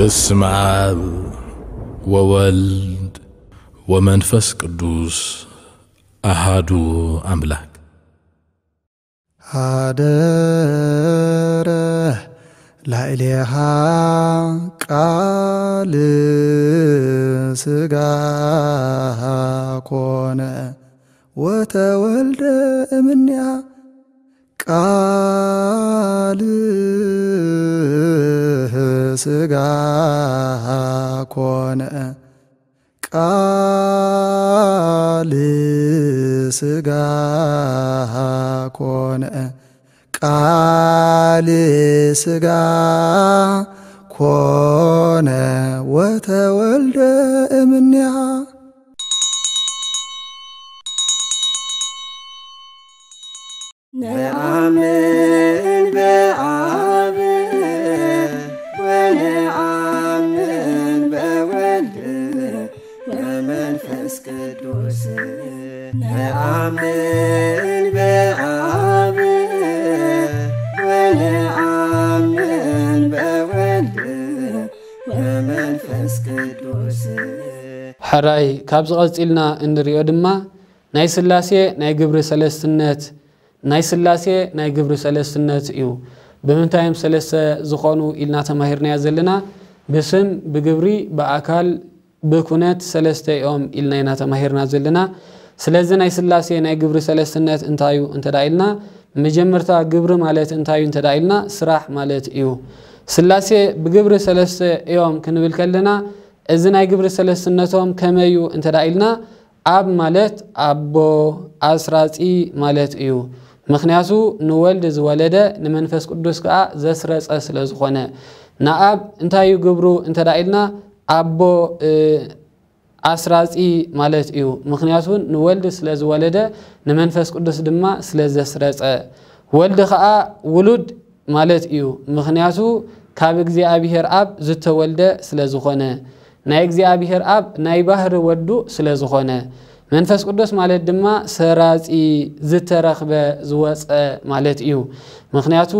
በስመ አብ ወወልድ ወመንፈስ ቅዱስ አሃዱ አምላክ። ሀደረ ላዕሌሃ ቃል ሥጋ ኮነ ወተወልደ እምኔሃ። ቃል ሥጋ ኮነ፣ ቃል ሥጋ ኮነ፣ ቃል ሥጋ ኮነ ወተወልደ እምኔሃ። ነአምን በአብ ወነአምን በወልድ ወመንፈስ ቅዱስ። ነአምን በአብ ወነአምን በወልድ ወመንፈስ ቅዱስ። ሕራይ ካብዚ ቀጺልና እንሪኦ ድማ ናይ ስላሴ ናይ ግብሪ ሰለስትነት፣ ናይ ስላሴ ናይ ግብሪ ሰለስትነት እዩ። ብምንታይ እዮም ሰለስተ ዝኾኑ ኢልና ተማሂርናዮ ዘለና? ብስም፣ ብግብሪ፣ ብኣካል፣ ብኩነት ሰለስተ እዮም ኢልና ኢና ተማሂርና ዘለና። ስለዚ ናይ ስላሴ ናይ ግብሪ ሰለስትነት እንታይ እዩ እንተ ደኣ ኢልና፣ መጀመርታ ግብሪ ማለት እንታይ እዩ እንተ ደኣ ኢልና፣ ስራሕ ማለት እዩ። ስላሴ ብግብሪ ሰለስተ እዮም ክንብል ከለና፣ እዚ ናይ ግብሪ ሰለስትነቶም ከመይ እዩ እንተ ደኣ ኢልና፣ ኣብ ማለት ኣቦ፣ ኣስራጺ ማለት እዩ። ምኽንያቱ ንወልድ ዝወለደ ንመንፈስ ቅዱስ ከኣ ዘስረጸ ስለ ዝኾነ። ንኣብ እንታይ እዩ ግብሩ እንተ ደኣ ኢልና፣ ኣቦ፣ እ፣ ኣስራጺ ማለት እዩ። ምኽንያቱ ንወልድ ስለ ዝወለደ ንመንፈስ ቅዱስ ድማ ስለ ዘስረጸ። ወልድ ኸኣ ውሉድ ማለት እዩ። ምኽንያቱ ካብ እግዚኣብሔር ኣብ ዝተወልደ ስለ ዝኾነ፣ ናይ እግዚኣብሔር ኣብ ናይ ባህሪ ወዱ ስለ ዝኾነ። መንፈስ ቅዱስ ማለት ድማ ሰራጺ፣ ዝተረኽበ፣ ዝወጸ ማለት እዩ። ምኽንያቱ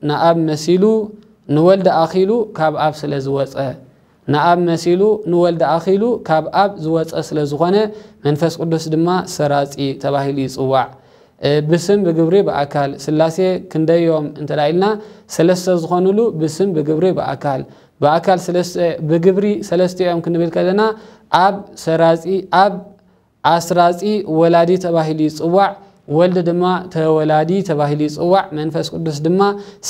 ንኣብ መሲሉ፣ ንወልድ ኣኺሉ ካብ ኣብ ስለ ዝወጸ። ንኣብ መሲሉ ንወልድ ኣኺሉ ካብ ኣብ ዝወጸ ስለ ዝኾነ መንፈስ ቅዱስ ድማ ሰራጺ ተባሂሉ ይጽዋዕ። እ፣ ብስም ብግብሪ ብኣካል ስላሴ ክንደዮም እንተ ደኣ ኢልና ሰለስተ ዝኾኑሉ ብስም ብግብሪ ብኣካል፣ ብኣካል ሰለስተ፣ ብግብሪ ሰለስተ እዮም ክንብል ከለና ኣብ ሰራጺ፣ ኣብ ኣስራጺ ወላዲ ተባሂሉ ይጽዋዕ፣ ወልድ ድማ ተወላዲ ተባሂሉ ይጽዋዕ፣ መንፈስ ቅዱስ ድማ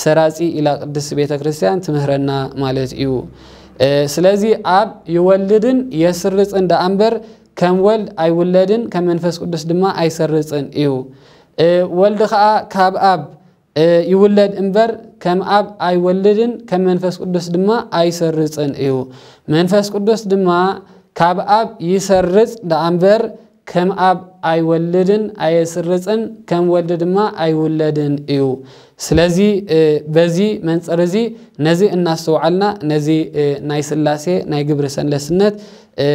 ሰራጺ ኢላ ቅድስት ቤተ ክርስቲያን ትምህረና ማለት እዩ። እ፣ ስለዚ ኣብ ይወልድን የስርጽን ደኣ እምበር ከም ወልድ ኣይውለድን፣ ከም መንፈስ ቅዱስ ድማ ኣይሰርጽን እዩ። እ፣ ወልድ ኸኣ ካብ ኣብ እ፣ ይውለድ እምበር ከም ኣብ ኣይወልድን ከም መንፈስ ቅዱስ ድማ ኣይሰርጽን እዩ። መንፈስ ቅዱስ ድማ ካብ ኣብ ይሰርጽ ደኣ እምበር ከም ኣብ ኣይወልድን ኣየስርጽን ከም ወልድ ድማ ኣይውለድን እዩ። ስለዚ፣ እ፣ በዚ መንጽር እዚ ነዚ እናስተውዓልና ነዚ፣ እ፣ ናይ ስላሴ ናይ ግብሪ ሰለስትነት እ፣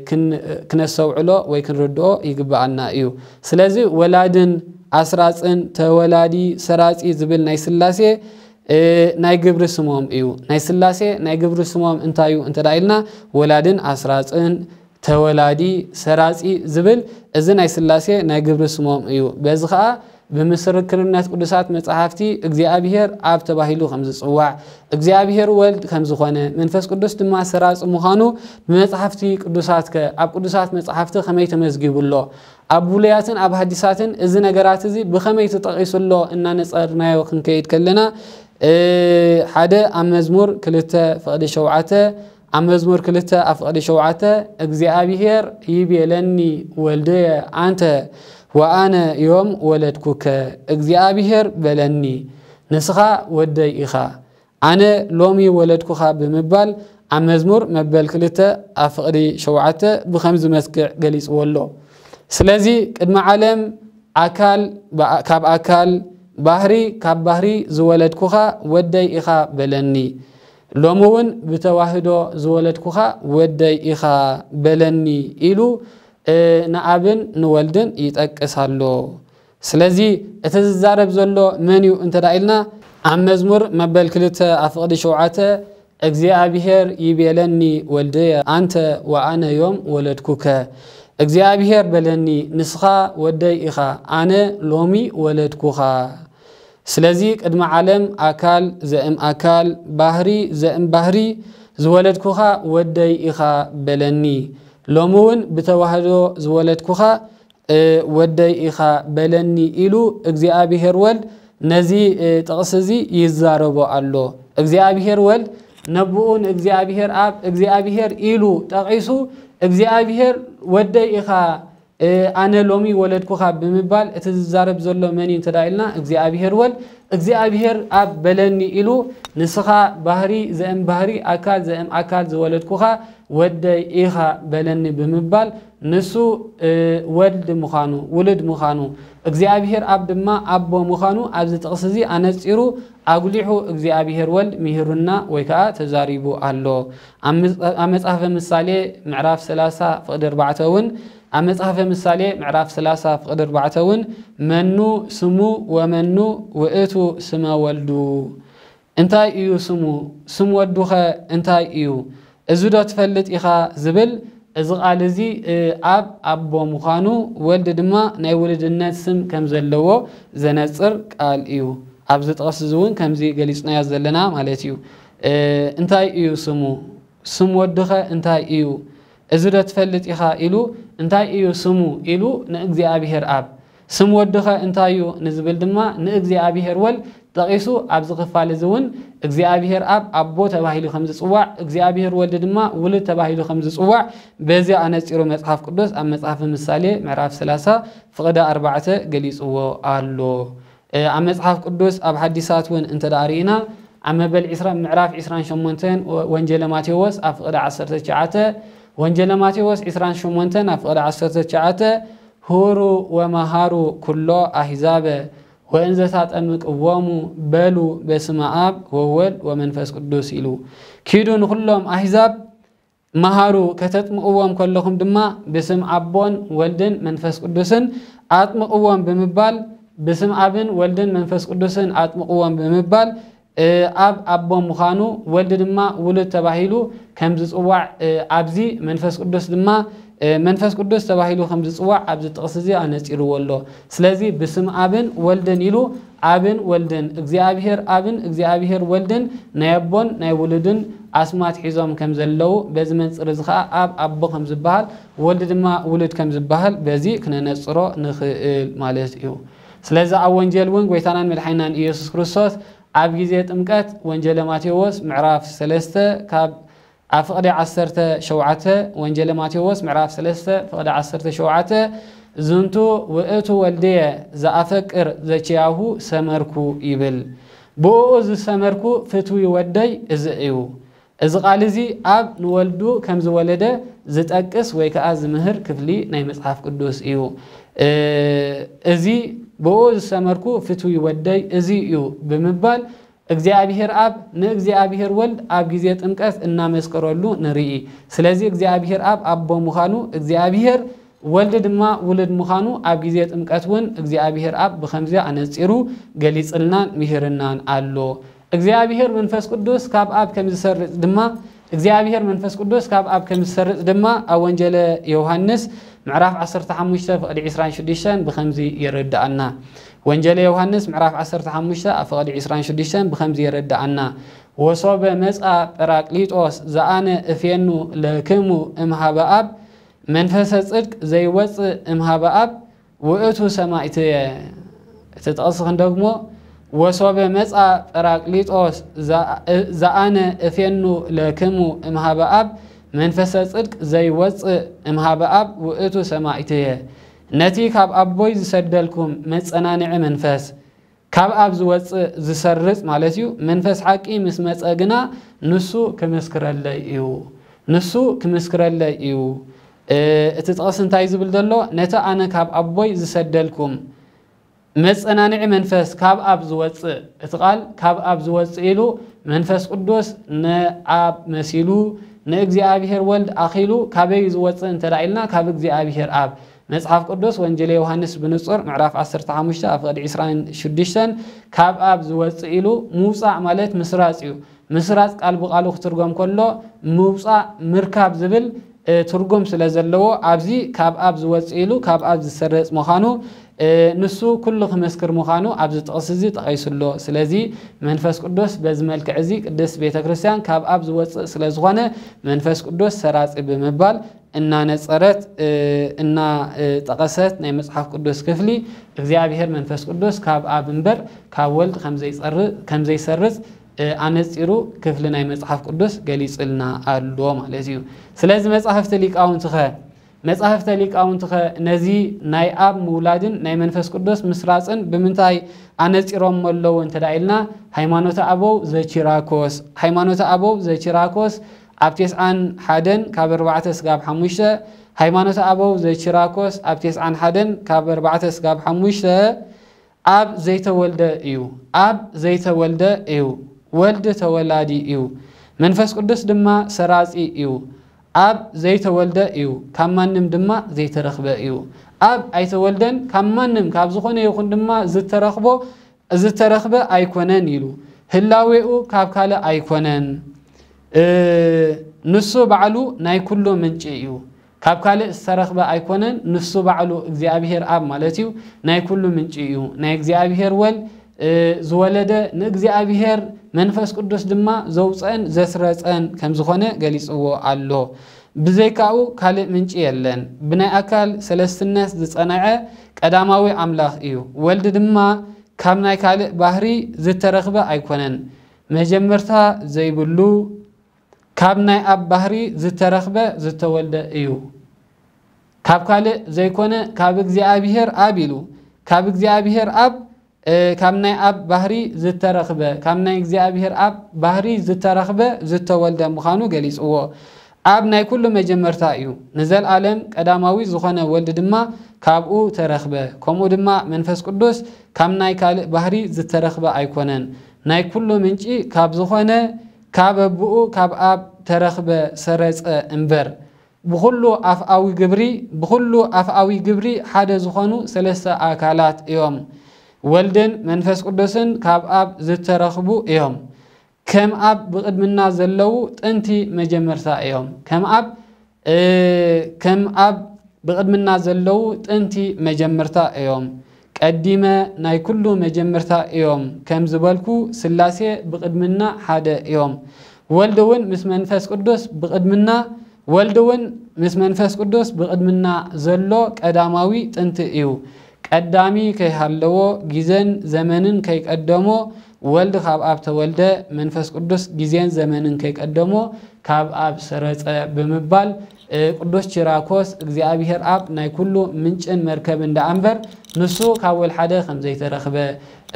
ክን-፣ ክነስተውዕሎ ወይ ክንርድኦ ይግብኣና እዩ። ስለዚ ወላድን ኣስራጽን ተወላዲ ሰራጺ ዝብል ናይ ስላሴ፣ እ፣ ናይ ግብሪ ስሞም እዩ። ናይ ስላሴ ናይ ግብሪ ስሞም እንታይ እዩ እንተ ደኣ ኢልና ወላድን ኣስራጽን ተወላዲ ሰራጺ ዝብል እዚ ናይ ስላሴ ናይ ግብሪ ስሞም እዩ። በዚ ኸኣ ብምስክርነት ቅዱሳት መጻሕፍቲ እግዚኣብሔር ኣብ ተባሂሉ ከም ዝጽዋዕ፣ እግዚኣብሔር ወልድ ከም ዝኾነ፣ መንፈስ ቅዱስ ድማ ሰራጺ ምዃኑ ብመጻሕፍቲ ቅዱሳት ከ፣ ኣብ ቅዱሳት መጻሕፍቲ ከመይ ተመዝጊቡ ኣሎ? ኣብ ብሉያትን ኣብ ሃዲሳትን እዚ ነገራት እዚ ብኸመይ ተጠቒሱ ኣሎ? እናነጸርናዮ ክንከይድ ከለና፣ እ፣ ሓደ ኣብ መዝሙር ክልተ ፍቕዲ ሸውዓተ፣ ኣብ መዝሙር ክልተ ኣብ ፍቕዲ ሸውዓተ፣ እግዚኣብሔር ይቤለኒ ወልድየ ኣንተ ወኣነ ዮም ወለድኩከ፣ እግዚኣብሔር በለኒ፣ ንስኻ ወደይ ኢኻ፣ ኣነ ሎሚ ወለድኩኻ ብምባል ኣብ መዝሙር መበል ክልተ ኣብ ፍቕዲ ሸውዓተ ብኸምዚ መስክዕ ገሊጽዎ ኣሎ። ስለዚ ቅድሚ ዓለም ኣካል ብኣ-፣ ካብ ኣካል፣ ባህሪ ካብ ባህሪ ዝወለድኩኻ ወደይ ኢኻ በለኒ። ሎሚ እውን ብተዋህዶ ዝወለድኩኻ ወደይ ኢኻ በለኒ ኢሉ፣ እ፣ ንኣብን ንወልድን ይጠቅስ ኣሎ። ስለዚ እቲ ዝዛረብ ዘሎ መን እዩ እንተ ደኣ ኢልና፣ ኣብ መዝሙር መበል ክልተ ኣብ ፍቕዲ ሸውዓተ እግዚኣብሔር ይቤለኒ ወልድየ ኣንተ ወኣነ ዮም ወለድኩከ። እግዚኣብሔር በለኒ ንስኻ ወደይ ኢኻ ኣነ ሎሚ ወለድኩኻ። ስለዚ ቅድሚ ዓለም ኣካል ዘእም ኣካል ባህሪ ዘእም ባህሪ ዝወለድኩኻ ወደይ ኢኻ በለኒ። ሎሚ እውን ብተዋህዶ ዝወለድኩኻ ወደይ ኢኻ በለኒ ኢሉ እግዚኣብሔር ወልድ ነዚ ጥቕሲ እዚ ይዛረቦ ኣሎ። እግዚኣብሔር ወልድ ነብኡ ንእግዚኣብሔር ኣብ እግዚኣብሔር ኢሉ ጠቒሱ እግዚኣብሔር ወደይ ኢኻ ኣነ ሎሚ ወለድኩኻ ብምባል እቲ ዝዛረብ ዘሎ መን እዩ እንተ ኢልና እግዚኣብሔር ወልድ እግዚኣብሔር ኣብ በለኒ ኢሉ ንስኻ ባህሪ ዘእም ባህሪ ኣካል ዘእም ኣካል ዝወለድኩኻ ወደይ ኢኻ በለኒ ብምባል ንሱ ወልድ ምዃኑ ውሉድ ምዃኑ እግዚኣብሔር ኣብ ድማ ኣቦ ምዃኑ ኣብዚ ጥቕሲ እዚ ኣነጺሩ ኣጉሊሑ እግዚኣብሔር ወልድ ምሂሩና ወይ ከዓ ተዛሪቡ ኣሎ። ኣብ መጽሓፈ ምሳሌ ምዕራፍ ሰላሳ ፍቕዲ ኣርባዕተ እውን ኣብ መጽሓፈ ምሳሌ ምዕራፍ ሰላሳ ፍቕዲ ኣርባዕተ እውን መኑ ስሙ ወመኑ ውእቱ ስመ ወልዱ እንታይ እዩ ስሙ? ስም ወዱኸ እንታይ እዩ? እዚ ዶ ትፈልጥ ኢኻ ዝብል እዚ ቃል እዚ ኣብ ኣቦ ምዃኑ ወልድ ድማ ናይ ውልድነት ስም ከም ዘለዎ ዘነጽር ቃል እዩ። ኣብዚ ጥቕስ እዚ እውን ከምዚ ገሊጽናዮ ዘለና ማለት እዩ። እንታይ እዩ ስሙ? ስም ወድኸ እንታይ እዩ? እዚ ዶ ትፈልጥ ኢኻ ኢሉ እንታይ እዩ ስሙ ኢሉ ንእግዚኣብሔር ኣብ ስም ወድኸ እንታይ እዩ ንዝብል ድማ ንእግዚኣብሔር ወልድ ጠቒሱ ኣብዚ ክፋል እዚ እውን እግዚኣብሔር ኣብ ኣቦ ተባሂሉ ከም ዝፅዋዕ እግዚኣብሔር ወልድ ድማ ውሉድ ተባሂሉ ከም ዝፅዋዕ በዚ ኣነፂሩ መፅሓፍ ቅዱስ ኣብ መፅሓፍ ምሳሌ ምዕራፍ ሰላሳ ፍቕዲ ኣርባዕተ ገሊፅዎ ኣሎ። ኣብ መጽሓፍ ቅዱስ ኣብ ሓዲሳት እውን እንተ ደኣ ርኢና ኣብ መበል ዕስራ ምዕራፍ ዕስራን ሸሞንተን ወንጀለ ማቴዎስ ኣብ ፍቕዲ ዓሰርተ ትሽዓተ ወንጀለ ማቴዎስ ዕስራን ሸሞንተን ኣብ ፍቕዲ ዓሰርተ ትሽዓተ ሁሩ ወመሃሩ ኩሎ ኣህዛበ ወእንዘ ታጠምቅዎሙ በሉ በስመ ኣብ ወወልድ ወመንፈስ ቅዱስ ኢሉ ኪዱ ንኹሎም ኣህዛብ መሃሩ ከተጥምቕዎም ከለኹም ድማ ብስም ኣቦን ወልድን መንፈስ ቅዱስን ኣጥምቕዎም ብምባል ብስም ኣብን ወልድን መንፈስ ቅዱስን ኣጥምቕዎም ብምባል ኣብ ኣቦ ምዃኑ ወልድ ድማ ውሉድ ተባሂሉ ከም ዝፅዋዕ ኣብዚ መንፈስ ቅዱስ ድማ መንፈስ ቅዱስ ተባሂሉ ከም ዝፅዋዕ ኣብዚ ጥቕሲ እዚ ኣነፂርዎ ኣሎ። ስለዚ ብስም ኣብን ወልድን ኢሉ ኣብን ወልድን እግዚኣብሔር ኣብን እግዚኣብሔር ወልድን ናይ ኣቦን ናይ ውሉድን ኣስማት ሒዞም ከም ዘለዉ በዚ መንፅር እዚ ከዓ ኣብ ኣቦ ከም ዝበሃል ወልድ ድማ ውሉድ ከም ዝበሃል በዚ ክነነፅሮ ንኽእል ማለት እዩ። ስለዚ ኣብ ወንጀል እውን ጎይታናን መድሓኒናን ኢየሱስ ክርስቶስ ኣብ ግዜ ጥምቀት ወንጀለ ማቴዎስ ምዕራፍ ሰለስተ ካብ ኣብ ፍቕዲ ዓሰርተ ሸውዓተ ወንጀለ ማቴዎስ ምዕራፍ ሰለስተ ፍቕዲ ዓሰርተ ሸውዓተ ዝንቱ ውእቱ ወልድየ ዘኣፈቅር ዘኪያሁ ሰመርኩ ይብል። ብእኡ ዝሰመርኩ ፍትዊ ወደይ እዚ እዩ። እዚ ቃል እዚ ኣብ ንወልዱ ከም ዝወለደ ዝጠቅስ ወይ ከዓ ዝምህር ክፍሊ ናይ መጽሓፍ ቅዱስ እዩ። እዚ ብኡ ዝሰመርኩ ፍትዊ ወደይ እዚ እዩ ብምባል እግዚኣብሔር ኣብ ንእግዚኣብሔር ወልድ ኣብ ግዜ ጥምቀት እናመስከረሉ ንርኢ። ስለዚ እግዚኣብሔር ኣብ ኣቦ ምዃኑ እግዚኣብሔር ወልድ ድማ ውሉድ ምዃኑ ኣብ ግዜ ጥምቀት እውን እግዚኣብሔር ኣብ ብኸምዚ ኣነጺሩ ገሊጽልናን ምሂርናን ኣሎ። እግዚኣብሔር መንፈስ ቅዱስ ካብ ኣብ ከም ዝሰርጽ ድማ እግዚኣብሔር መንፈስ ቅዱስ ካብ ኣብ ከም ዝሰርጽ ድማ ኣብ ወንጀለ ዮሃንስ ምዕራፍ ዓሰርተ ሓሙሽተ ፍቕዲ ዕስራን ሽዱሽተን ብኸምዚ የረድኣና። ወንጀለ ዮሃንስ ምዕራፍ ዓሰርተ ሓሙሽተ ኣብ ፍቕዲ ዕስራን ሽዱሽተን ብኸምዚ የረድኣና። ወሶበ መጻ ጳራቅሊጦስ ዘኣነ እፌኑ ለክሙ እምሃበ ኣብ መንፈሰ ጽድቅ ዘይወጽእ እምሃበ ኣብ ውእቱ ሰማይትየ። እቲ ጥቕሲ ክንደግሞ፣ ወሶበ መጻ ጳራቅሊጦስ ዘኣነ እፌኑ ለክሙ እምሃበ ኣብ መንፈሰ ጽድቅ ዘይወጽእ እምሃበ ኣብ ውእቱ ሰማይትየ። ነቲ ካብ ኣቦይ ዝሰደልኩም መጸናንዒ መንፈስ ካብ ኣብ ዝወጽእ ዝሰርጽ ማለት እዩ። መንፈስ ሓቂ ምስ መጸ ግና ንሱ ክምስክረለይ እዩ። ንሱ ክምስክረለይ እዩ። እቲ ጥቕሲ እንታይ ዝብል ዘሎ? ነቲ ኣነ ካብ ኣቦይ ዝሰደልኩም መጸናንዒ መንፈስ ካብ ኣብ ዝወጽእ፣ እቲ ቃል ካብ ኣብ ዝወጽእ ኢሉ መንፈስ ቅዱስ ንኣብ መሲሉ ንእግዚኣብሔር ወልድ ኣኺሉ ካበይ ዝወጽእ እንተ ኢልና ካብ እግዚኣብሔር ኣብ መጽሓፍ ቅዱስ ወንጀል ዮሃንስ ብንጹር ምዕራፍ ዓሰርተ ሓሙሽተ ኣብ ፍቕዲ ዕስራን ሽዱሽተን ካብ ኣብ ዝወጽእ ኢሉ ምውጻእ ማለት ምስራጽ እዩ። ምስራጽ ቃል ብቓሉ ክትርጎም ከሎ ምውጻእ፣ ምርካብ ዝብል ትርጉም ስለ ዘለዎ፣ ኣብዚ ካብ ኣብ ዝወጽእ ኢሉ ካብ ኣብ ዝሰረጽ ምዃኑ ንሱ ኩሉ ክመስክር ምዃኑ ኣብዚ ጥቕሲ እዚ ጠቒሱ ኣሎ። ስለዚ መንፈስ ቅዱስ በዚ መልክዕ እዚ ቅድስት ቤተ ክርስቲያን ካብ ኣብ ዝወጽእ ስለ ዝኾነ መንፈስ ቅዱስ ሰራጺ ብምባል እናነጸረት እናጠቐሰት ናይ መጽሓፍ ቅዱስ ክፍሊ እግዚኣብሔር መንፈስ ቅዱስ ካብ ኣብ እምበር ካብ ወልድ ከም ዘይሰርጽ ኣነጺሩ ክፍሊ ናይ መጽሓፍ ቅዱስ ገሊጽልና ኣሎ ማለት እዩ። ስለዚ መጻሕፍቲ ሊቃውንትኸ መጻሕፍተ ሊቃውንትኸ ነዚ ናይ ኣብ ምውላድን ናይ መንፈስ ቅዱስ ምስራጽን ብምንታይ ኣነጺሮም ኣለዉ እንተ ኢልና፣ ሃይማኖተ ኣበው ዘቺራኮስ፣ ሃይማኖተ ኣበው ዘቺራኮስ ኣብ ቴስዓን ሓደን ካብ ኣርባዕተ ስጋብ ሓሙሽተ፣ ሃይማኖተ ኣበው ዘቺራኮስ ኣብ ቴስዓን ሓደን ካብ ኣርባዕተ ስጋብ ሓሙሽተ፣ ኣብ ዘይተወልደ እዩ። ኣብ ዘይተወልደ እዩ። ወልድ ተወላዲ እዩ። መንፈስ ቅዱስ ድማ ሰራጺ እዩ። ኣብ ዘይተወልደ እዩ። ካብ ማንም ድማ ዘይተረኽበ እዩ። ኣብ ኣይተወልደን ካብ ማንም ካብ ዝኾነ ይኹን ድማ ዝተረኽቦ ዝተረኽበ ኣይኮነን ኢሉ። ህላዌኡ ካብ ካልእ ኣይኮነን። ንሱ ባዕሉ ናይ ኩሉ ምንጪ እዩ። ካብ ካልእ ዝተረኽበ ኣይኮነን። ንሱ ባዕሉ እግዚኣብሔር ኣብ ማለት እዩ። ናይ ኩሉ ምንጪ እዩ። ናይ እግዚኣብሔር ወል ዝወለደ ንእግዚኣብሔር መንፈስ ቅዱስ ድማ ዘውፀን ዘስረፀን ከም ዝኾነ ገሊፅዎ ኣሎ። ብዘይካኡ ካልእ ምንጪ የለን። ብናይ ኣካል ሰለስትነት ዝፀንዐ ቀዳማዊ ኣምላኽ እዩ። ወልድ ድማ ካብ ናይ ካልእ ባህሪ ዝተረኽበ ኣይኮነን። መጀመርታ ዘይብሉ ካብ ናይ ኣብ ባህሪ ዝተረኽበ ዝተወልደ እዩ። ካብ ካልእ ዘይኮነ ካብ እግዚኣብሔር ኣብ ኢሉ ካብ እግዚኣብሔር ኣብ ካብ ናይ ኣብ ባህሪ ዝተረኽበ ካብ ናይ እግዚኣብሔር ኣብ ባህሪ ዝተረኽበ ዝተወልደ ምዃኑ ገሊፅዎ። ኣብ ናይ ኩሉ መጀመርታ እዩ። ንዘልኣለም ቀዳማዊ ዝኾነ ወልድ ድማ ካብኡ ተረኽበ። ከምኡ ድማ መንፈስ ቅዱስ ካብ ናይ ካልእ ባህሪ ዝተረኽበ ኣይኮነን። ናይ ኩሉ ምንጪ ካብ ዝኾነ ካብ ኣቦኡ ካብ ኣብ ተረኽበ ሰረጸ እምበር። ብኹሉ ኣፍኣዊ ግብሪ ብኹሉ ኣፍኣዊ ግብሪ ሓደ ዝኾኑ ሰለስተ ኣካላት እዮም። ወልድን መንፈስ ቅዱስን ካብ ኣብ ዝተረኽቡ እዮም። ከም ኣብ ብቕድምና ዘለዉ ጥንቲ መጀመርታ እዮም። ከም ኣብ ከም ኣብ ብቕድምና ዘለዉ ጥንቲ መጀመርታ እዮም። ቀዲመ ናይ ኩሉ መጀመርታ እዮም ከም ዝበልኩ ስላሴ ብቕድምና ሓደ እዮም። ወልድ እውን ምስ መንፈስ ቅዱስ ብቕድምና ወልድ እውን ምስ መንፈስ ቅዱስ ብቕድምና ዘሎ ቀዳማዊ ጥንቲ እዩ። ቀዳሚ ከይሃለዎ ግዜን ዘመንን ከይቀደሞ ወልድ ካብ ኣብ ተወልደ መንፈስ ቅዱስ ግዜን ዘመንን ከይቀደሞ ካብ ኣብ ሰረጸ ብምባል ቅዱስ ቺራኮስ እግዚኣብሔር ኣብ ናይ ኩሉ ምንጭን መርከብን ደኣ እምበር ንሱ ካብ ወልሓደ ከም ዘይተረኽበ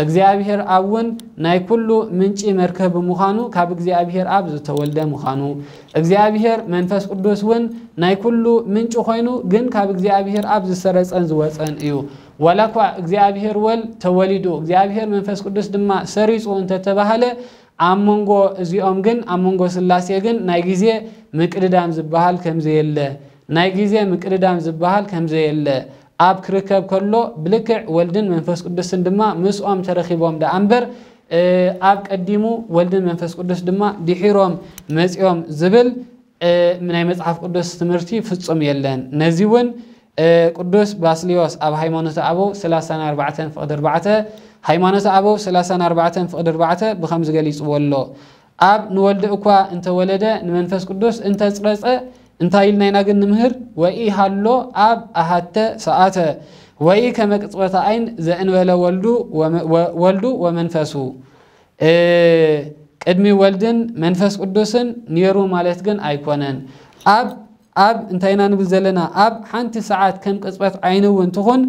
እግዚኣብሔር ኣብ እውን ናይ ኩሉ ምንጪ መርከብ ብምዃኑ ካብ እግዚኣብሔር ኣብ ዝተወልደ ምዃኑ እግዚኣብሔር መንፈስ ቅዱስ እውን ናይ ኩሉ ምንጪ ኮይኑ ግን ካብ እግዚኣብሔር ኣብ ዝሰረጸን ዝወጸን እዩ። ዋላ እኳ እግዚኣብሔር ወልድ ተወሊዱ እግዚኣብሔር መንፈስ ቅዱስ ድማ ሰሪጹ እንተተባህለ ኣብ መንጎ እዚኦም ግን ኣብ መንጎ ስላሴ ግን ናይ ግዜ ምቅድዳም ዝበሃል ከምዘየለ ናይ ግዜ ምቅድዳም ዝበሃል ከምዘየለ ኣብ ክርከብ ከሎ ብልክዕ ወልድን መንፈስ ቅዱስን ድማ ምስኦም ተረኺቦም ደኣ እምበር ኣብ ቀዲሙ ወልድን መንፈስ ቅዱስ ድማ ድሒሮም መጺኦም ዝብል ናይ መጽሓፍ ቅዱስ ትምህርቲ ፍጹም የለን። ነዚ እውን ቅዱስ ባስልዮስ ኣብ ሃይማኖተ ኣበው ሰላሳን ኣርባዕተን ፍቕዲ ኣርባዕተ ሃይማኖተ ኣበው ሰላሳን ኣርባዕተን ፍቕዲ ኣርባዕተ ብኸምዚ ገሊጽዎ ኣሎ። ኣብ ንወልድ እኳ እንተወለደ ንመንፈስ ቅዱስ እንተጽረጸ እንታይ ኢልና ኢና ግን ንምህር? ወኢ ሃሎ ኣብ ኣሃተ ሰኣተ ወኢ ከመ ቅጽበተ ዓይን ዘእንበለ ወልዱ ወመ- ወ- ወልዱ ወመንፈሱ። እ፣ ቅድሚ ወልድን መንፈስ ቅዱስን ነይሩ ማለት ግን ኣይኮነን። ኣብ ኣብ እንታይ ኢና ንብል ዘለና? ኣብ ሓንቲ ሰዓት ከም ቅጽበት ዓይኒ እውን ትኹን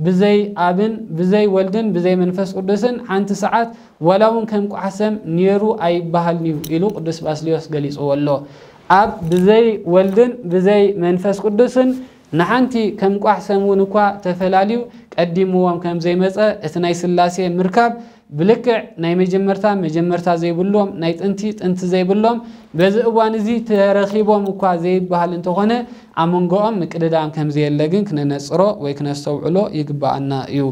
ብዘይ ኣብን ብዘይ ወልድን ብዘይ መንፈስ ቅዱስን ሓንቲ ሰዓት ዋላ እውን ከም ቋሕሰም ነይሩ ኣይበሃልን እዩ ኢሉ ቅዱስ ባስልዮስ ገሊጽዎ ኣሎ። ኣብ ብዘይ ወልድን ብዘይ መንፈስ ቅዱስን ንሓንቲ ከም ቋሕሰም እውን እኳ ተፈላልዩ ቀዲምዎም ከም ዘይመጸ እቲ ናይ ስላሴ ምርካብ ብልክዕ ናይ መጀመርታ መጀመርታ ዘይብሎም ናይ ጥንቲ ጥንቲ ዘይብሎም በዚ እዋን እዚ ተረኺቦም እኳ ዘይበሃል እንተኾነ ኣብ መንጎኦም ምቅድዳም ከም ዘየለ ግን ክነነጽሮ ወይ ክነስተውዕሎ ይግበኣና እዩ።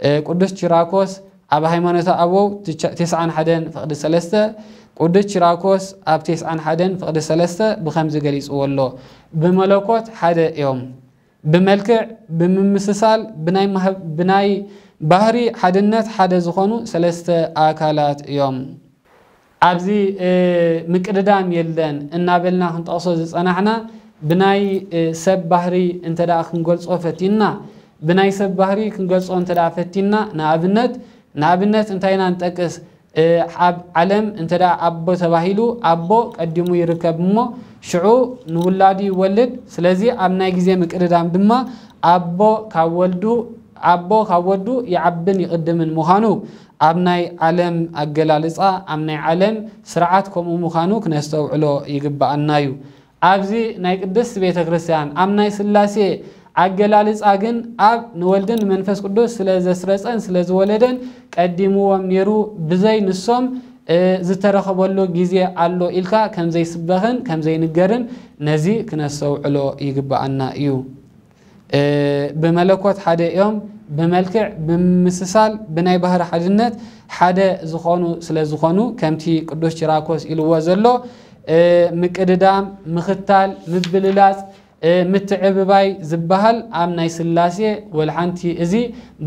እ፣ ቅዱስ ቺራኮስ ኣብ ሃይማኖተ ኣበው ትቻ- ተስዓን ሓደን ፍቕዲ ሰለስተ ቅዱስ ቺራኮስ ኣብ ተስዓን ሓደን ፍቕዲ ሰለስተ ብኸምዚ ገሊጽዎ ኣሎ። ብመለኮት ሓደ እዮም። ብመልክዕ፣ ብምምስሳል፣ ብናይ ማህ-፣ ብናይ ባህሪ ሓድነት ሓደ ዝኾኑ ሰለስተ ኣካላት እዮም። ኣብዚ፣ እ፣ ምቅድዳም የለን እናበልና ክንጠቕሶ ዝጸናሕና ብናይ፣ እ፣ ሰብ ባህሪ እንተ ደኣ ክንገልጾ ፈቲንና፣ ብናይ ሰብ ባህሪ ክንገልጾ እንተ ደኣ ፈቲንና፣ ንኣብነት፣ ንኣብነት እንታይ ኢና ንጠቅስ? እ፣ ኣብ ዓለም እንተ ደኣ ኣቦ ተባሂሉ፣ ኣቦ ቀዲሙ ይርከብ እሞ፣ ሽዑ ንውላዱ ይወልድ። ስለዚ ኣብ ናይ ግዜ ምቅድዳም ድማ ኣቦ ካብ ወልዱ፣ ኣቦ ካብ ወዱ ይዓብን ይቕድምን ምዃኑ ኣብ ናይ ዓለም ኣገላልጻ፣ ኣብ ናይ ዓለም ስርዓት ከምኡ ምዃኑ ክነስተውዕሎ ይግብኣና እዩ። ኣብዚ ናይ ቅድስት ቤተ ክርስቲያን፣ ኣብ ናይ ሥላሴ ኣገላልጻ ግን ኣብ ንወልድን ንመንፈስ ቅዱስ ስለ ዘስረጸን ስለ ዝወለደን ቀዲምዎም ነይሩ፣ ብዘይ ንሶም፣ እ፣ ዝተረኸበሉ ግዜ ኣሎ ኢልካ ከም ዘይስበኽን ከም ዘይንገርን ነዚ ክነስተውዕሎ ይግብኣና እዩ። እ፣ ብመለኮት ሓደ እዮም፣ ብመልክዕ፣ ብምምስሳል፣ ብናይ ባህሪ ሓድነት ሓደ ዝኾኑ ስለ ዝኾኑ፣ ከምቲ ቅዱስ ቺራኮስ ኢልዎ ዘሎ፣ እ፣ ምቅድዳም፣ ምኽታል፣ ምብልላጽ፣ እ፣ ምትዕብባይ ዝበሃል ኣብ ናይ ሥላሴ ወላ ሓንቲ እዚ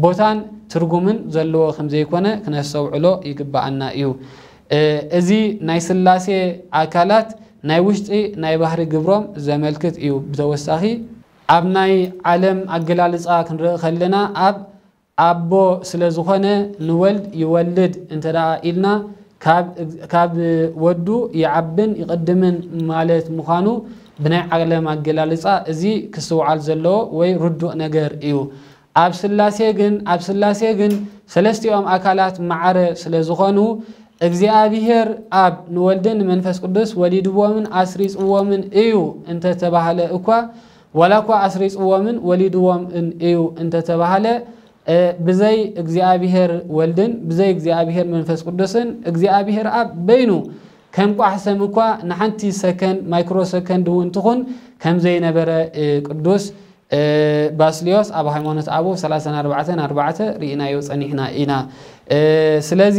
ቦታን ትርጉምን ዘለዎ ከም ዘይኮነ ክነስተውዕሎ ይግብኣና እዩ። እ፣ እዚ ናይ ሥላሴ ኣካላት ናይ ውሽጢ ናይ ባህሪ ግብሮም ዘመልክት እዩ። ብተወሳኺ ኣብ ናይ ዓለም ኣገላልጻ ክንርኢ ከለና ኣብ ኣቦ ስለ ዝኾነ ንወልድ ይወልድ እንተ ደኣ ኢልና ካብ፣ ካብ ወዱ ይዓብን ይቕድምን ማለት ምዃኑ ብናይ ዓለም ኣገላልጻ እዚ ክስትውዓል ዘለዎ ወይ ርዱእ ነገር እዩ። ኣብ ሥላሴ ግን፣ ኣብ ሥላሴ ግን ሰለስቲኦም ኣካላት ማዕረ ስለ ዝኾኑ እግዚኣብሔር ኣብ ንወልድን ንመንፈስ ቅዱስ ወሊድዎምን ኣስሪጽዎምን እዩ እንተተባህለ እኳ፣ ዋላ እኳ ኣስሪጽዎምን ወሊድዎምን እዩ እንተተባህለ፣ እ፣ ብዘይ እግዚኣብሔር ወልድን ብዘይ እግዚኣብሔር መንፈስ ቅዱስን እግዚኣብሔር ኣብ በይኑ ከም ቋሕ ሰም እኳ ንሓንቲ ሰከንድ፣ ማይክሮ ሰከንድ እውን ትኹን ከም ዘይነበረ፣ እ፣ ቅዱስ፣ እ፣ ባስልዮስ ኣብ ሃይማኖት ኣበው ሰላሳን ኣርባዕተን ኣርባዕተ ርኢናዮ ጸኒሕና ኢና። እ፣ ስለዚ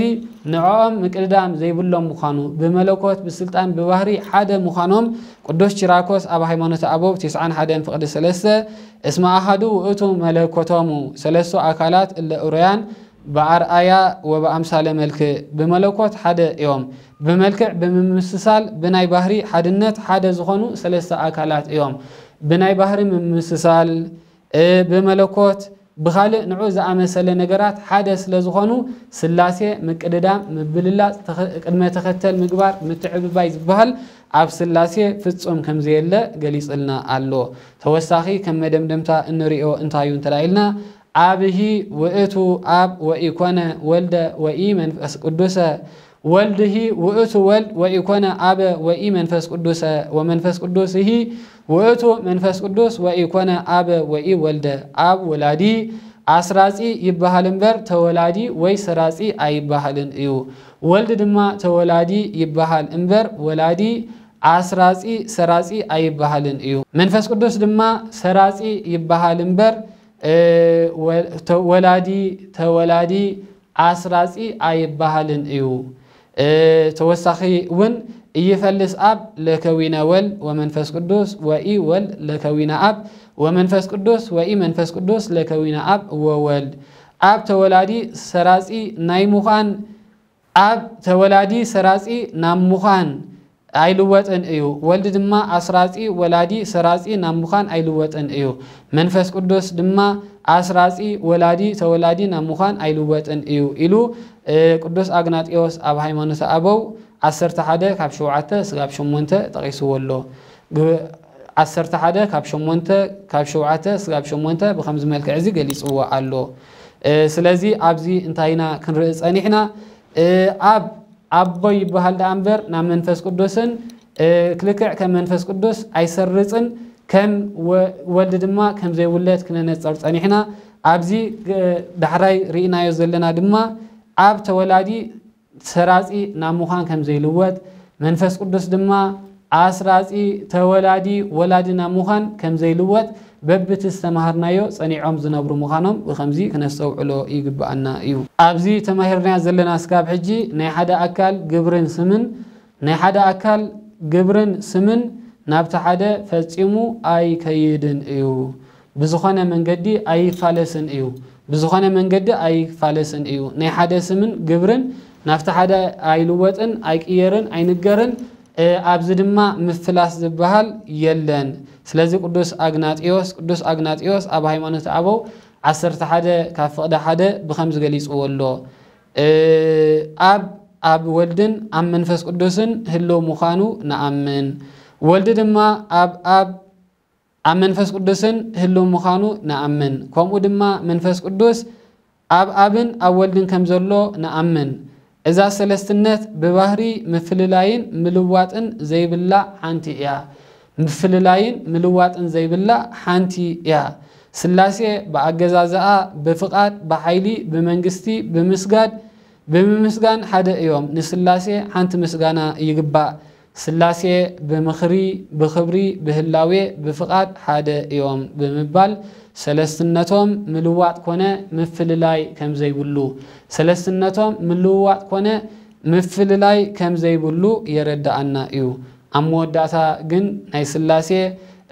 ንዕኦም ምቅድዳም ዘይብሎም ምዃኑ፣ ብመለኮት፣ ብስልጣን፣ ብባህሪ ሓደ ምዃኖም ቅዱስ ቺራኮስ ኣብ ሃይማኖት ኣበው ትስዓን ሓደን ፍቕዲ ሰለስተ፣ እስመ ኣሃዱ ውእቱ መለኮቶሙ ሰለስቱ ኣካላት እለ እሩያን በኣርኣያ ወበኣምሳለ መልክዕ፣ ብመለኮት ሓደ እዮም። ብመልክዕ፣ ብምምስሳል፣ ብናይ ባህሪ ሓድነት ሓደ ዝኾኑ ሰለስተ ኣካላት እዮም። ብናይ ባህሪ ምምስሳል፣ እ፣ ብመለኮት፣ ብኻልእ ንዑ ዝኣመሰለ ነገራት ሓደ ስለ ዝኾኑ፣ ሥላሴ ምቅድዳም፣ ምብልላጽ፣ ተኸ-፣ ቅድመ ተኸተል ምግባር፣ ምትዕብባይ ዝበሃል ኣብ ሥላሴ ፍጹም ከም ዘየለ ገሊጽልና ኣሎ። ተወሳኺ ከም መደምደምታ እንርእዮ እንታይ እዩ እንተ ኢልና፣ ኣብሂ ውእቱ ኣብ ወኢኮነ ወልደ ወኢ መንፈስ ቅዱሰ፣ ወልድሂ ውእቱ ወልድ ወኢኮነ ኣበ ወኢ መንፈስ ቅዱሰ፣ ወመንፈስ ቅዱስሂ ውእቱ መንፈስ ቅዱስ ወኢኮነ ኣበ ወኢ ወልደ። ኣብ ወላዲ ኣስራጺ ይበሃል እምበር ተወላዲ ወይ ሰራጺ ኣይበሃልን እዩ። ወልድ ድማ ተወላዲ ይበሃል እምበር ወላዲ ኣስራጺ ሰራጺ ኣይበሃልን እዩ። መንፈስ ቅዱስ ድማ ሰራጺ ይበሃል እምበር፣ እ፣ ወ-፣ ተ-፣ ወላዲ ተወላዲ ኣስራጺ ኣይበሃልን እዩ። እ፣ ተወሳኺ እውን ኢይፈልስ ኣብ ለከዊነ ወልድ ወመንፈስ ቅዱስ ወኢ ወልድ ለከዊነ ኣብ ወመንፈስ ቅዱስ ወኢ መንፈስ ቅዱስ ለከዊነ ኣብ ወወልድ። ኣብ ተወላዲ ሰራጺ ናይ ምዃን፣ ኣብ ተወላዲ ሰራጺ ናብ ምዃን ኣይልወጥን እዩ። ወልድ ድማ ኣስራጺ ወላዲ ሰራጺ ናብ ምዃን ኣይልወጥን እዩ። መንፈስ ቅዱስ ድማ ኣስራጺ ወላዲ ተወላዲ ናብ ምዃን ኣይልወጥን እዩ ኢሉ፣ እ፣ ቅዱስ ኣግናጢዮስ ኣብ ሃይማኖተ ኣበው ዓሰርተ ሓደ ካብ ሸውዓተ ስጋብ ሸሞንተ ጠቒስዎ ኣሎ። ግ-፣ ዓሰርተ ሓደ ካብ ሸሞንተ፣ ካብ ሸውዓተ ስጋብ ሸሞንተ ብኸምዚ መልክዕ እዚ ገሊጽዎ ኣሎ። እ፣ ስለዚ ኣብዚ እንታይ ኢና ክንርኢ ጸኒሕና? እ፣ ኣብ ኣቦ ይበሃል ደኣ እምበር ናብ መንፈስ ቅዱስን፣ እ፣ ክልክዕ ከም መንፈስ ቅዱስ ኣይሰርጽን፣ ከም ወ-፣ ወልድ ድማ ከም ዘይውለድ ክነነጽር ጸኒሕና። ኣብዚ፣ እ፣ ዳሕራይ ርኢናዮ ዘለና ድማ ኣብ ተወላዲ ሰራጺ ናብ ምዃን ከም ዘይልወጥ፣ መንፈስ ቅዱስ ድማ ኣስራጺ፣ ተወላዲ፣ ወላዲ ናብ ምዃን ከም ዘይልወጥ በብቲ ዝተማሃርናዮ ጸኒዖም ዝነብሩ ምዃኖም ብኸምዚ ክነስተውዕሎ ይግብኣና እዩ። ኣብዚ ተማሂርናዮ ዘለና ስጋብ ሕጂ ናይ ሓደ ኣካል ግብርን ስምን ናይ ሓደ ኣካል ግብርን ስምን ናብቲ ሓደ ፈጺሙ ኣይከይድን እዩ። ብዝኾነ መንገዲ ኣይፋለስን እዩ። ብዝኾነ መንገዲ ኣይፋለስን እዩ። ናይ ሓደ ስምን ግብርን ናብቲ ሓደ ኣይልወጥን፣ ኣይቅየርን፣ ኣይንገርን። እ፣ ኣብዚ ድማ ምፍላስ ዝበሃል የለን። ስለዚ ቅዱስ ኣግናጢዮስ፣ ቅዱስ ኣግናጢዮስ ኣብ ሃይማኖት ኣበው ዓሰርተ ሓደ ካብ ፍቕዲ ሓደ ብኸምዚ ገሊጽዎ ኣሎ። እ፣ ኣብ፣ ኣብ ወልድን ኣብ መንፈስ ቅዱስን ህልው ምዃኑ ንኣምን። ወልዲ ድማ ኣብ ኣብ ኣብ መንፈስ ቅዱስን ህልው ምዃኑ ንኣምን። ከምኡ ድማ መንፈስ ቅዱስ ኣብ ኣብን ኣብ ወልድን ከም ዘሎ ንኣምን። እዛ ሰለስትነት ብባህሪ ምፍልላይን ምልዋጥን ዘይብላ ሓንቲ እያ። ምፍልላይን ምልዋጥን ዘይብላ ሓንቲ እያ። ስላሴ ብኣገዛዝኣ፣ ብፍቓድ፣ ብሓይሊ፣ ብመንግስቲ፣ ብምስጋድ፣ ብምምስጋን ሓደ እዮም። ንስላሴ ሓንቲ ምስጋና ይግባእ። ስላሴ ብምኽሪ፣ ብኽብሪ፣ ብህላዌ፣ ብፍቓድ ሓደ እዮም ብምባል ሰለስትነቶም ምልዋጥ ኮነ ምፍልላይ ከም ዘይብሉ፣ ሰለስትነቶም ምልውዋጥ ኮነ ምፍልላይ ከም ዘይብሉ የረድኣና እዩ። ኣብ መወዳእታ ግን ናይ ስላሴ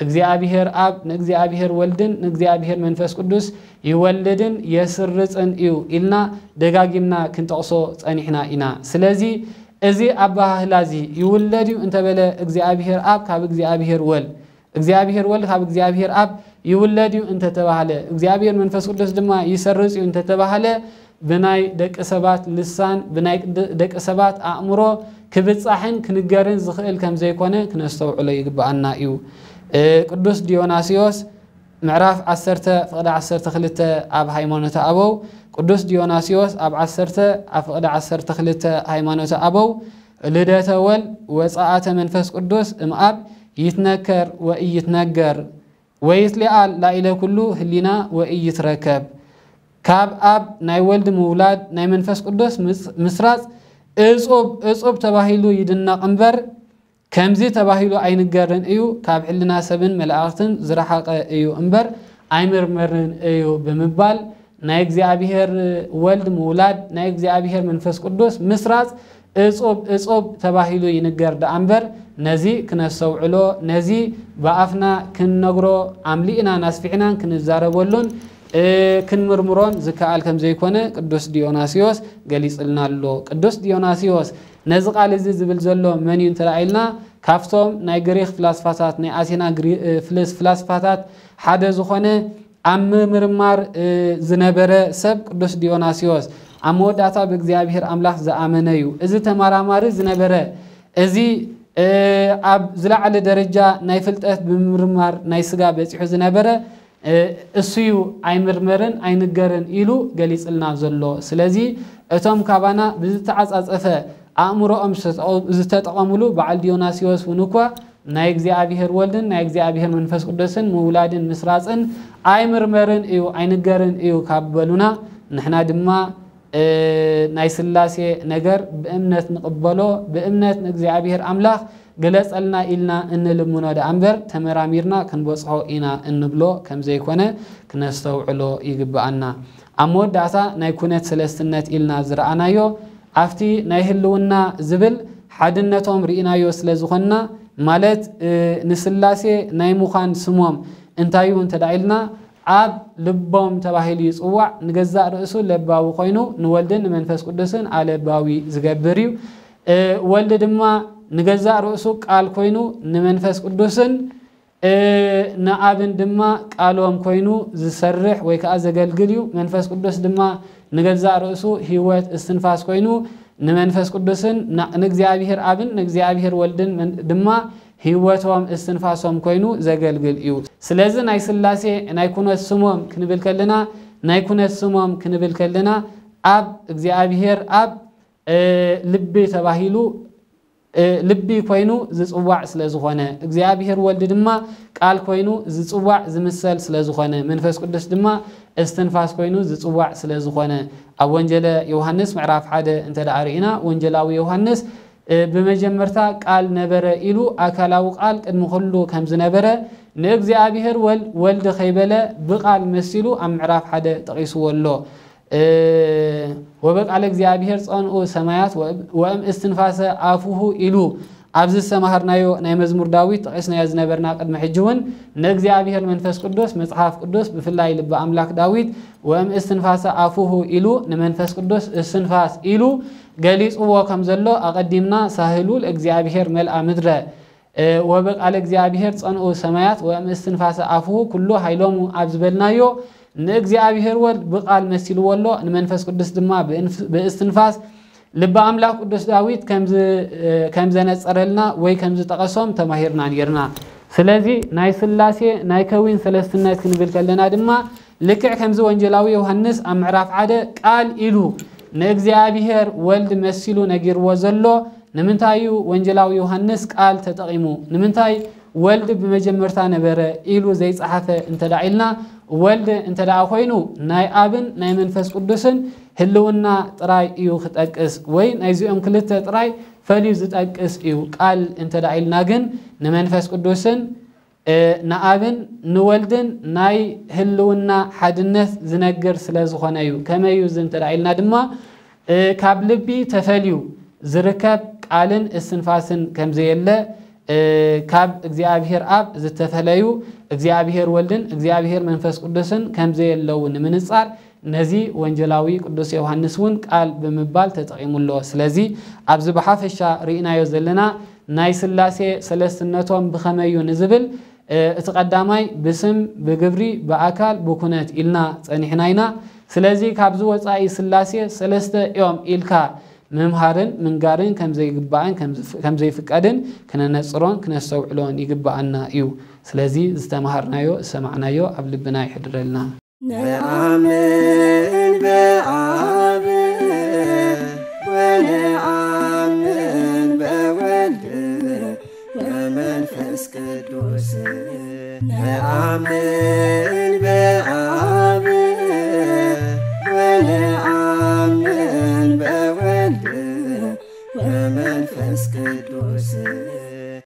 እግዚኣብሔር ኣብ ንእግዚኣብሔር ወልድን ንእግዚኣብሔር መንፈስ ቅዱስ ይወልድን የስርጽን እዩ ኢልና ደጋጊምና ክንጠቕሶ ጸኒሕና ኢና። ስለዚ እዚ ኣበሃህላ እዚ ይውለድ እዩ እንተበለ እግዚኣብሔር ኣብ ካብ እግዚኣብሔር ወልድ፣ እግዚኣብሔር ወልድ ካብ እግዚኣብሔር ኣብ ይውለድ እዩ እንተተባህለ፣ እግዚኣብሔር መንፈስ ቅዱስ ድማ ይሰርጽ እዩ እንተተባህለ፣ ብናይ ደቂ ሰባት ልሳን፣ ብናይ ድ-፣ ደቂ ሰባት ኣእምሮ ክብጻሕን ክንገርን ዝኽእል ከም ዘይኮነ ክነስተውዕሎ ይግብኣና እዩ። እ፣ ቅዱስ ዲዮናስዮስ ምዕራፍ ዓሰርተ ፍቕዲ ዓሰርተ ክልተ ኣብ ሃይማኖተ ኣበው፣ ቅዱስ ዲዮናስዮስ ኣብ ዓሰርተ ኣብ ፍቕዲ ዓሰርተ ክልተ ሃይማኖተ ኣበው፣ ልደተ ወልድ ወጸኣተ መንፈስ ቅዱስ እምኣብ ይትነከር ወኢይትነገር ወይትሊኣል ላኢለ ኩሉ ህሊና ወኢይትረከብ። ካብ ኣብ ናይ ወልድ ምውላድ ናይ መንፈስ ቅዱስ ምስ-፣ ምስራጽ እጹብ፣ እጹብ ተባሂሉ ይድነቕ እምበር፣ ከምዚ ተባሂሉ ኣይንገርን እዩ፣ ካብ ሕልና ሰብን መላእኽትን ዝረሓቐ እዩ እምበር ኣይምርመርን እዩ ብምባል፣ ናይ እግዚኣብሔር ወልድ ምውላድ፣ ናይ እግዚኣብሔር መንፈስ ቅዱስ ምስራጽ እጹብ፣ እጹብ ተባሂሉ ይንገር ደኣ እምበር፣ ነዚ ክነስተውዕሎ፣ ነዚ ብኣፍና ክንነግሮ፣ ኣምሊእናን ኣስፊሕናን ክንዛረበሉን፣ እ፣ ክንምርምሮን ዝከኣል ከም ዘይኮነ ቅዱስ ዲዮናስዮስ ገሊጽልና ኣሎ። ቅዱስ ዲዮናስዮስ ነዚ ቃል እዚ ዝብል ዘሎ መን እዩ እንተ ደኣ ኢልና፣ ካብቶም ናይ ግሪኽ ፍላስፋታት፣ ናይ ኣቴና ግሪ-፣ እ፣ ፍልስ-፣ ፍላስፋታት ሓደ ዝኾነ ኣብ ምምርማር፣ እ፣ ዝነበረ ሰብ ቅዱስ ዲዮናስዮስ ኣብ መወዳእታ ብእግዚኣብሔር ኣምላኽ ዝኣመነ እዩ። እዚ ተመራማሪ ዝነበረ፣ እዚ፣ እ፣ ኣብ ዝለዓለ ደረጃ ናይ ፍልጠት ብምምርማር ናይ ስጋ በጺሑ ዝነበረ፣ እ፣ እሱ እዩ ኣይምርመርን ኣይንገርን ኢሉ ገሊጽልና ዘሎ። ስለዚ እቶም ካባና ብዝተዓጻጸፈ ኣእምሮኦም ዝተጠቐ-፣ ዝተጠቐምሉ በዓል ዲዮናስዮስ እውን እኳ ናይ እግዚኣብሔር ወልድን ናይ እግዚኣብሔር መንፈስ ቅዱስን ምውላድን ምስራጽን ኣይምርመርን እዩ፣ ኣይንገርን እዩ ካብ በሉና፣ ንሕና ድማ፣ እ፣ ናይ ስላሴ ነገር ብእምነት ንቕበሎ፣ ብእምነት ንእግዚኣብሔር ኣምላኽ ግለጸልና ኢልና እንልምኖ ደኣ እምበር፣ ተመራሚርና ክንበጽሖ ኢና እንብሎ ከም ዘይኮነ ክነስተውዕሎ ይግብኣና። ኣብ መወዳእታ ናይ ኩነት ሰለስትነት ኢልና ዝረኣናዮ፣ ኣብቲ ናይ ህልውና ዝብል ሓድነቶም ርኢናዮ ስለ ዝኾንና፣ ማለት፣ እ፣ ንስላሴ ናይ ምዃን ስሞም እንታይ እዩ እንተ ደኣ ኢልና፣ ኣብ ልቦም ተባሂሉ ይጽዋዕ። ንገዛእ ርእሱ ለባዊ ኮይኑ፣ ንወልድን ንመንፈስ ቅዱስን ኣለባዊ ዝገብር እዩ። እ፣ ወልድ ድማ ንገዛእ ርእሱ ቃል ኮይኑ፣ ንመንፈስ ቅዱስን፣ እ፣ ንኣብን ድማ ቃሎም ኮይኑ ዝሰርሕ ወይ ከኣ ዘገልግል እዩ። መንፈስ ቅዱስ ድማ ንገዛእ ርእሱ ህይወት እስትንፋስ ኮይኑ፣ ንመንፈስ ቅዱስን ና-፣ ንእግዚኣብሔር ኣብን ንእግዚኣብሔር ወልድን መን-፣ ድማ ህይወቶም እስትንፋሶም ኮይኑ ዘገልግል እዩ። ስለዚ ናይ ስላሴ ናይ ኩነት ስሞም ክንብል ከለና፣ ናይ ኩነት ስሞም ክንብል ከለና፣ ኣብ እግዚኣብሔር ኣብ፣ እ፣ ልቢ ተባሂሉ፣ እ፣ ልቢ ኮይኑ ዝጽዋዕ ስለ ዝኾነ፣ እግዚኣብሔር ወልድ ድማ ቃል ኮይኑ ዝጽዋዕ ዝምሰል ስለ ዝኾነ፣ መንፈስ ቅዱስ ድማ እስትንፋስ ኮይኑ ዝጽዋዕ ስለ ዝኾነ፣ ኣብ ወንጌለ ዮሃንስ ምዕራፍ ሓደ እንተ ደኣ ርኢና፣ ወንጌላዊ ዮሃንስ፣ እ፣ ብመጀመርታ ቃል ነበረ ኢሉ፣ ኣካላዊ ቃል ቅድሚ ኩሉ ከም ዝነበረ፣ ንእግዚኣብሔር ወልድ፣ ወልድ ከይበለ ብቃል መሲሉ ኣብ ምዕራፍ ሓደ ጠቒስዎ ኣሎ። እ፣ "ወበቃለ እግዚኣብሔር ጸንኡ ሰማያት ወእም-፣ ወእም እስትንፋሰ ኣፉሁ" ኢሉ ኣብዚ ዝተማሃርናዮ ናይ መዝሙር ዳዊት ጠቒስናዮ ዝነበርና ቅድሚ ሕጂ እውን ንእግዚኣብሔር መንፈስ ቅዱስ መጽሓፍ ቅዱስ ብፍላይ ልቢ ኣምላክ ዳዊት "ወእም እስትንፋሰ ኣፉሁ" ኢሉ ንመንፈስ ቅዱስ እስትንፋስ ኢሉ ገሊጽዎ ከም ዘሎ ኣቐዲምና "ሳህሉ ለእግዚኣብሔር መልኣ ምድረ" እ፣ "ወበቃለ እግዚኣብሔር ጸንኡ ሰማያት ወእም እስትንፋሰ ኣፉሁ ኩሉ ኃይሎሙ" ኣብ ዝበልናዮ ንእግዚኣብሔር ወልድ ብቃል መሲልዎ ኣሎ፣ ንመንፈስ ቅዱስ ድማ ብእንፍ-፣ ብእስትንፋስ ልበ ኣምላክ ቅዱስ ዳዊት ከምዝ-፣ እ፣ ከም ዘነጸረልና ወይ ከም ዝጠቐሶም ተማሂርና ነይርና። ስለዚ ናይ ስላሴ ናይ ከዊን ሰለስትነት ክንብል ከለና ድማ ልክዕ ከምዚ ወንጌላዊ ዮሃንስ ኣብ ምዕራፍ ሓደ ቃል ኢሉ ንእግዚኣብሔር ወልድ መሲሉ ነጊርዎ ዘሎ ንምንታይ እዩ ወንጌላዊ ዮሃንስ ቃል ተጠቒሙ? ንምንታይ ወልድ ብመጀመርታ ነበረ ኢሉ ዘይጸሓፈ እንተ ደኣ ኢልና፣ ወልድ እንተ ደኣ ኮይኑ ናይ ኣብን ናይ መንፈስ ቅዱስን ህልውና ጥራይ እዩ ክጠቅስ፣ ወይ ናይዚኦም ክልተ ጥራይ ፈልዩ ዝጠቅስ እዩ። ቃል እንተ ደኣ ኢልና ግን ንመንፈስ ቅዱስን እ፣ ንኣብን ንወልድን ናይ ህልውና ሓድነት ዝነግር ስለ ዝኾነ እዩ። ከመይ እዩ እዚ እንተ ደኣ ኢልና ድማ፣ እ፣ ካብ ልቢ ተፈልዩ ዝርከብ ቃልን እስትንፋስን ከም ዘየለ፣ እ፣ ካብ እግዚኣብሔር ኣብ ዝተፈለዩ እግዚኣብሔር ወልድን እግዚኣብሔር መንፈስ ቅዱስን ከም ዘየለዉ ንምንጻር ነዚ ወንጌላዊ ቅዱስ ዮሃንስ እውን ቃል ብምባል ተጠቒሙ ኣሎ። ስለዚ ኣብዚ ብሓፈሻ ርኢናዮ ዘለና ናይ ስላሴ ሰለስትነቶም ብኸመይ እዩ ንዝብል፣ እ፣ እቲ ቀዳማይ ብስም፣ ብግብሪ፣ ብኣካል፣ ብኩነት ኢልና ጸኒሕና ኢና። ስለዚ ካብዚ ወጻኢ ስላሴ ሰለስተ እዮም ኢልካ ምምሃርን ምንጋርን ከም ዘይግባእን ከም ዝፍ-፣ ከም ዘይፍቀድን ክነነጽሮን ክነስተውዕሎን ይግባኣና እዩ። ስለዚ ዝተማሃርናዮ ዝሰማዕናዮ ኣብ ልብና ይሕድረልና። ነአምን በአብ ወነአምን በወልድ ወመንፈስ ቅዱስ። ነአምን በአብ